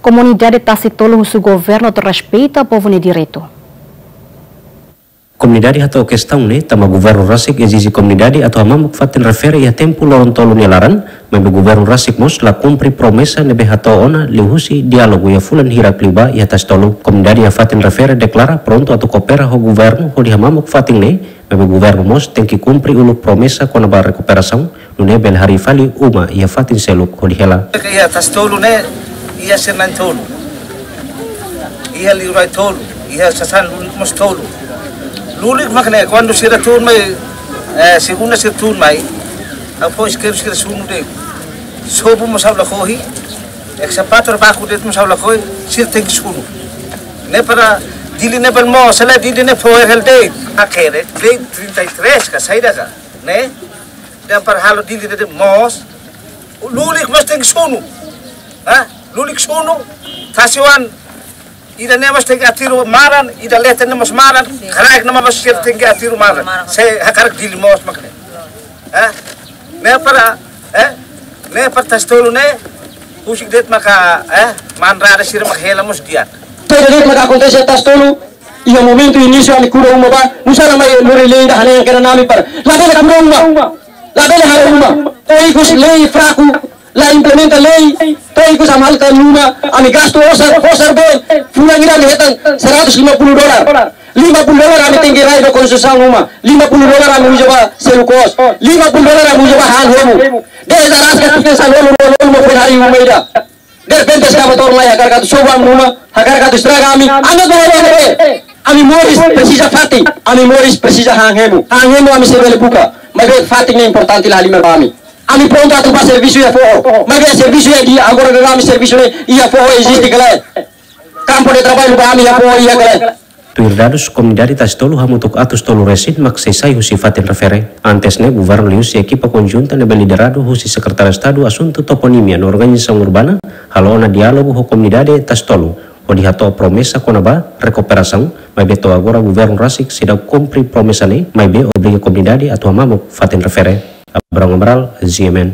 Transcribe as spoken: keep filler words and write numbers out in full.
Komunidade Tasi Tolu husu governu atu respeita povu nia direitu. Komunidade hato'o kestaun ne'e tanba governu rasik ezije komunidade atu hamamuk fatin refere iha tempu loron tolu nia laran, maibé governu rasik mós la kumpre promesa ne'ebé hato'o ona liuhusi diálogu iha fulan hirak liubá iha Tasi Tolu. Komunidade iha fatin refere deklara prontu atu koopera ho governu hodi hamamuk fatin ne'e, maibé governu mós tenke kumpre uluk promesa kona-ba rekuperasaun, nune'e bele harii fali uma iha fatin seluk hodi hela. Iha Tasi Tolu ne'e, iha sira na'in tolu. Iha liurai tolu, iha sasán lulik mós tolu. Lulik mak ne'e, kuandu sira tun mai, eh, segunda sira tun mai, ha'u fó iskeru sira sunu de'it. Sobu mós ha'u lakohi, ekskavadór baku de'it mós ha'u lakohi, sira tenke sunu. Ne'e para Dili ne'e bele moos, se lae Dili ne'e fo'er hela de'it. Hakerek, lei trinta e três ka, saida ka, ne'e? Dehan para halo Dili ne'e de'it moos, lulik mós tenke sunu. Ha? Lulik sunu, tasi-oan, ida-ne'e mós tenke aterru maran, ida leten ne'e mós maran, kraik ne'e mós sira tenke aterru maran. Se hakarak Dili moos mak ne'e. Ha? Ne'e para, eh? Ne'e para Tasi Tolu ne'e, husik de'it maka, eh? Manrara sira maka hela mós di'ak. Saida de'it maka akontese Tasi Tolu, iha momentu inísiu ami kuda uma bá, nusá la mai lori lei ida hanehan kedan ami para labele kuda uma, labele halo uma. To'o ikus lei fraku, la implementa lei, to'o ikus ami halo tan uma, ami gastu osar, osar bee, fulan ida ami hetan seratus lima puluh dolar. Lima puluh dolar ami tenke rai ba konstrusaun uma, lima puluh dolar ami uza ba selu kos, lima puluh dolar ami uza ba han hemu. Dezde rasik tinan sanulu-ruanulu mak foin harii uma ida. Derrepente eskavadór mai hakarak atu sobu ami uma, hakarak atu estraga ami, ami ba halo ne'e. Ami moris presiza fatin, ami moris presiza han hemu. Han hemu ami sei bele buka, maibé fatin ne'e importante la halimar ba ami. Ami prontu atu bá servisu iha foho, maibé servisu iha di'ak, agora daudaun ami servisu ne'e iha foho eziste ka lae? Kampu de traballu ba ami iha foho iha ka lae? Tuir dadus, komunidade Tasi Tolu hamutuk atus tolu resin mak sei sai husi fatin refere. Antes ne'e, governu liuhusi ekipa konjunta ne'ebé lideradu husi Sekretáriu Estadu Asuntu Toponímia no Organizasaun Urbana halo ona diálogu ho komunidade Tasi Tolu, hodi hato'o promesa kona-ba rekuperasaun, maibé to'o agora governu rasik seidauk kumpre promesa ne'e, maibé obriga komunidade atu hamamuk fatin refere. Abrão Amaral, G M N.